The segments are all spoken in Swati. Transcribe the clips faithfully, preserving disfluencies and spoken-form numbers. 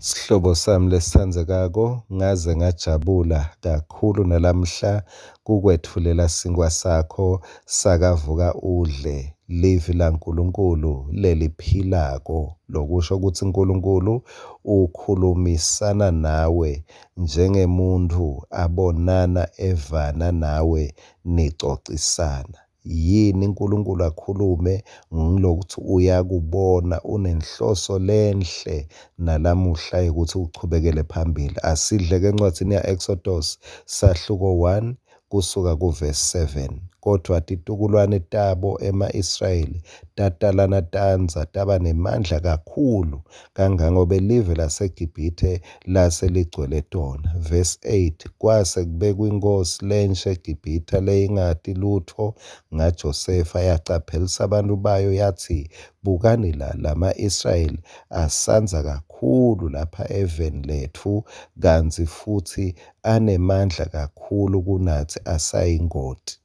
Sihlobo sami lesitsandzekako, ngaze ngajabula kakhulu nalamhla kukwetfulela sinkhwa sakho sakavuka udle livi laNkulunkulu leliphilako, lokusho kutsi Nkulunkulu ukhulumisana nawe njengemuntfu abonana evana nawe nicocisana. Yini Nkulunkulu akhulume? Ngilokutsi uyakubona unenhloso lenhle nalamuhla yekutsi uchubekele phambili. Asidleke encwadzini ya-Exodus sahluko one kusuka kuvesi seven. Kodvwa titukulwane tabo ema-Israyeli tatalana tandza taba nemandla kakhulu kangangobe live laseGibhithe lase ligcwele tona. Verse eight, kwase kubekwa inkhosi lensha eGibhithe leyingati lutfo ngaJosefa, yacaphelisa abantu bayo yatsi, bukani la, lama-Israyeli asandza kakhulu lapha eveni letfu, kantsi futsi anemandla kakhulu kunatsi, asayingoti.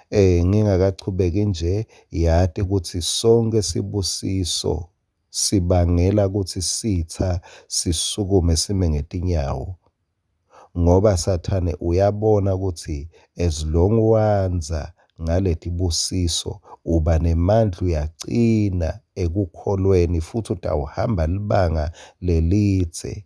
Eh ngingakachubeki nje, yati kutsi sonke sibusiso sibangela kutsi sitha sisukume sime ngetinyawo, ngoba Sathane uyabona kutsi as long wandza ngaletibusiso uba nemandla, uyacina ekukholweni futhi utawuhamba libanga lelidze.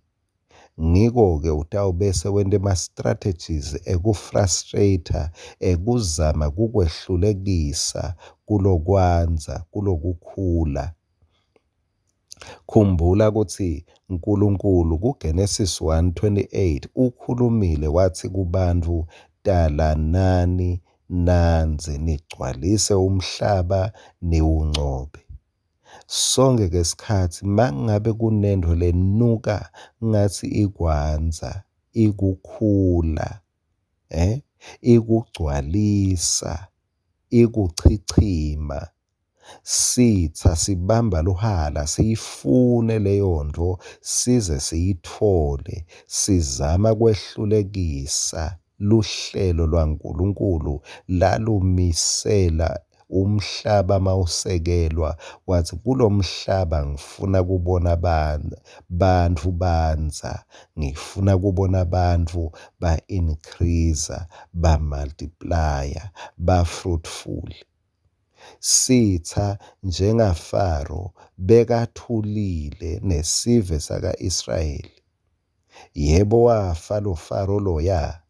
Ngiko-ke utawubese wenta ema-strategies eku-frustrate-a, ekuzama kukwehlulekisa kulokwandza, kulokukhula. Khumbula kutsi Nkulunkulu kuGenesis one twenty-eight ukhulumile watsi kubantfu, talanani nandze nigcwalise umhlaba niwuncobe. Sonke ke sikhatsi mangabe kunento lenuka ngathi ikwandza, ikukhula, eh ikugcwalisa, ikuchichima, sitsa sibamba luhala siyifune leyo nto size siyitfole, sizama kwehlulekisa luhlelo lwaNkulunkulu lalumisela umhlaba mawusekelwa, wathi kulomhlaba ngifuna kubona bantfu bandza, ngifuna kubona bantfu ba-increase, ba-multiplya, ba-fruitful. Sitha njengaFaro bekathulile nesive saka-Israyeli. Yebo wafa lo Faro loya,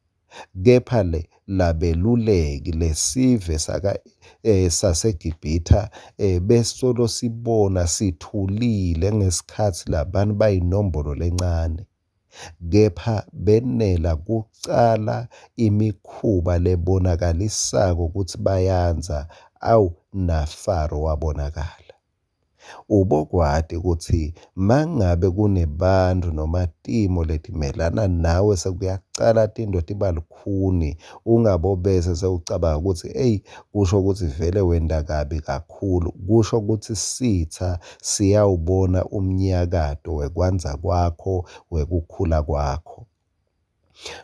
kepha le labeluleki lesive saka eh, saseGibhithe eh, besolo sibona sithulile ngesikhatsi labantu bayinombolo lencane, kepha benela kucala imikhuba lebonakalisako kutsi bayandza. Awu naFaro wabonakala. Ubokwati kutsi mangabe kunebantu noma timo letimelana nawe sekuyacala tinto tiba lukhuni, ungabobese sewucabanga kutsi eyi kusho kutsi vele wenta kabi kakhulu. Kusho kutsi sitha siyawubona umnyakato wekwandza kwakho, wekukhula kwakho.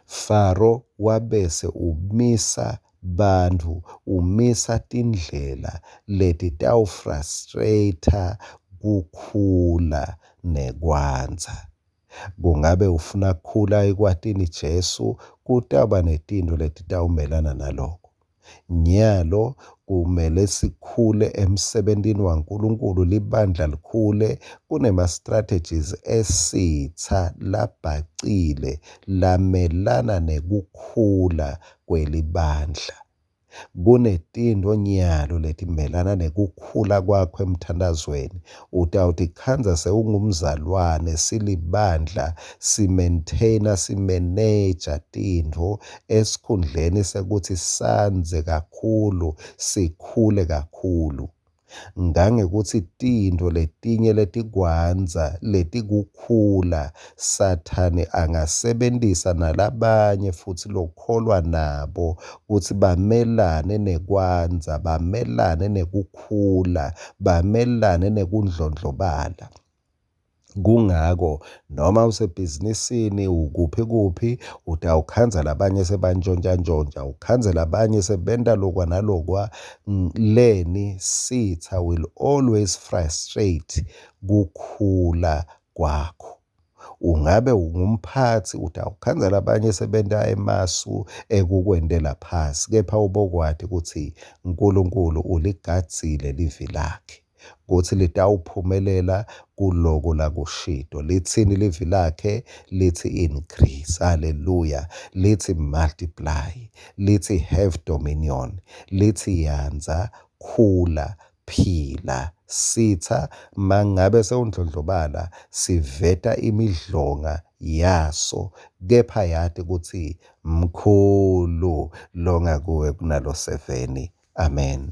Faro wabese umisa bantfu, umisa tindlela letitawufrustrate kukhula nekwandza. Kungabe ufuna kukhula ekwatini Jesu, kutawuba netintfo letitawumelana naloko. Nyalo kumele sikhule emsebentini waNkulunkulu, libandla likhule, kunema-strategies esitha labhacile lamelana nekukhula kwelibandla. Kunetintfo nyalo letimelana nekukhula kwakho emthandazweni. Utawutikhandza sewungumzalwane, silibandla, si-maintain-a, si-manage-a tintfo esikhundleni sekuthi sandze kakhulu, sikhule kakhulu. Ngangekuthi tintfo letinye letikwandza, letikukhula, Sathane angasebentisa nalabanye futsi lokholwa nabo kutsi bamelane nekwandza, bamelane nekukhula, bamelane nekundlondlobala. Kungako noma usebhizinisini ukuphi kuphi utawukhandza labanye sebantjontjantjontja, ukhandze labanye sebenta lokwa nalokwa. Leni sitha will always frustrate kukhula kwakho. Ungabe ungumphatsi, utawukhandza labanye sebenta emasu ekukwentela phasi, kepha ubokwati kutsi Nkulunkulu uligadzile livi lakhe kutsi litawuphumelela kuloko lakushito. Litsini livi lakhe? Litsi increase, haleluya. Litsi multiply, litsi have dominion, litsi yandza, khula, phila. Sitha mangabe sewundlondlobala siveta imidlonga yaso, kepha yati kutsi mkhulu longakuwe kunaloseveni. Amen.